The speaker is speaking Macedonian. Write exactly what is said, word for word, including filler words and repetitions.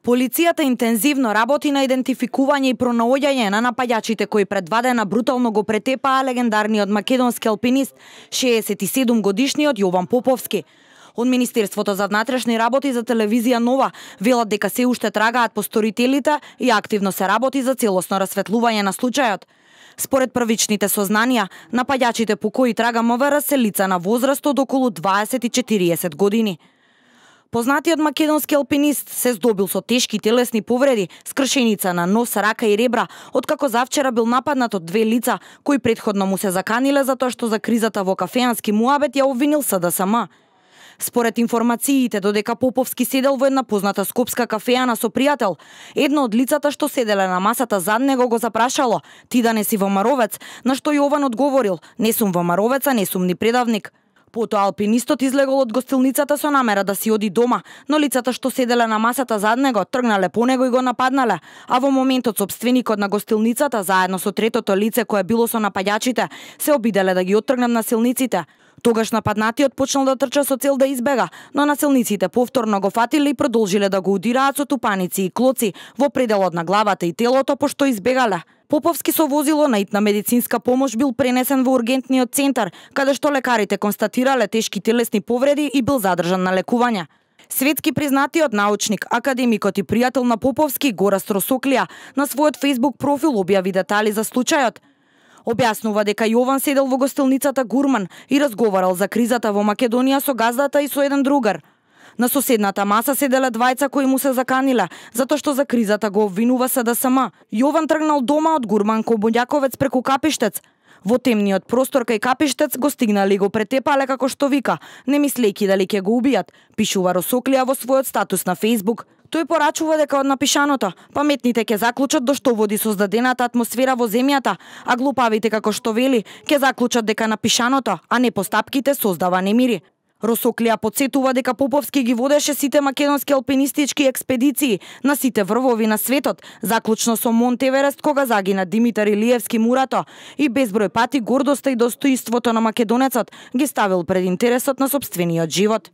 Полицијата интензивно работи на идентификување и пронаоѓање на напаѓачите кои пред два дена брутално го претепаа легендарниот македонски алпинист, шеесет и седум годишниот Јован Поповски. Од Министерството за внатрешни работи за телевизија Нова велат дека се уште трагаат по сторителите и активно се работи за целосно расветлување на случајот. Според првичните сознанија, напаѓачите по кои трага МВР се лица на возраст од околу дваесет и четириесет години. Познатиот македонски алпинист се здобил со тешки телесни повреди, скршеница на нос, рака и ребра, откако завчера бил нападнат од две лица кои претходно му се заканиле затоа што за кризата во кафеански муабет ја обвинил СДСМ. Според информациите, додека Поповски седел во една позната скопска кафеана со пријател, едно од лицата што седеле на масата зад него го запрашало: "Ти да не си Вомаровец?", на што Јован одговорил: "Не сум Вомаровец, а не сум ни предавник." Потоа алпинистот излегол од гостилницата со намера да си оди дома, но лицата што седеле на масата зад него тргнале по него и го нападнале, а во моментот сопственикот на гостилницата заедно со третото лице кое било со напаѓачите се обиделе да ги оттргнат насилниците. Тогаш нападнатиот почнал да трча со цел да избега, но насилниците повторно го фатиле и продолжиле да го удираат со тупаници и клоци во пределот на главата и телото, пошто избегале. Поповски со возило на итна медицинска помош бил пренесен во ургентниот центар, каде што лекарите констатирале тешки телесни повреди и бил задржан на лекување. Светски признатиот научник, академикот и пријател на Поповски, Гораст Росоклија, на својот Facebook профил објави детали за случајот. Објаснува дека Јован седел во гостилницата Гурман и разговарал за кризата во Македонија со газдата и со еден другар. На соседната маса седеле двајца кои му се заканиле, затоа што за кризата го обвинува СДСМ. Јован тргнал дома од Гурман кон Боњаковец преку Капиштец. Во темниот простор кај Капиштец го стигнале и го претепале како што вика, не мислејќи дали ќе го убијат, пишува Росоклија во својот статус на Facebook. Тој порачува дека од напишаното паметните ќе заклучат до што води создадената атмосфера во земјата, а глупавите, како што вели, ќе заклучат дека напишаното, а не постапките, создава немири. Росоклија потсетува дека Поповски ги водеше сите македонски алпинистички експедиции на сите врвови на светот, заклучно со Монт Еверест кога загина Димитар Илиевски Мурато, и безброј пати гордоста и достоинството на македонецот ги ставил пред интересот на сопствениот живот.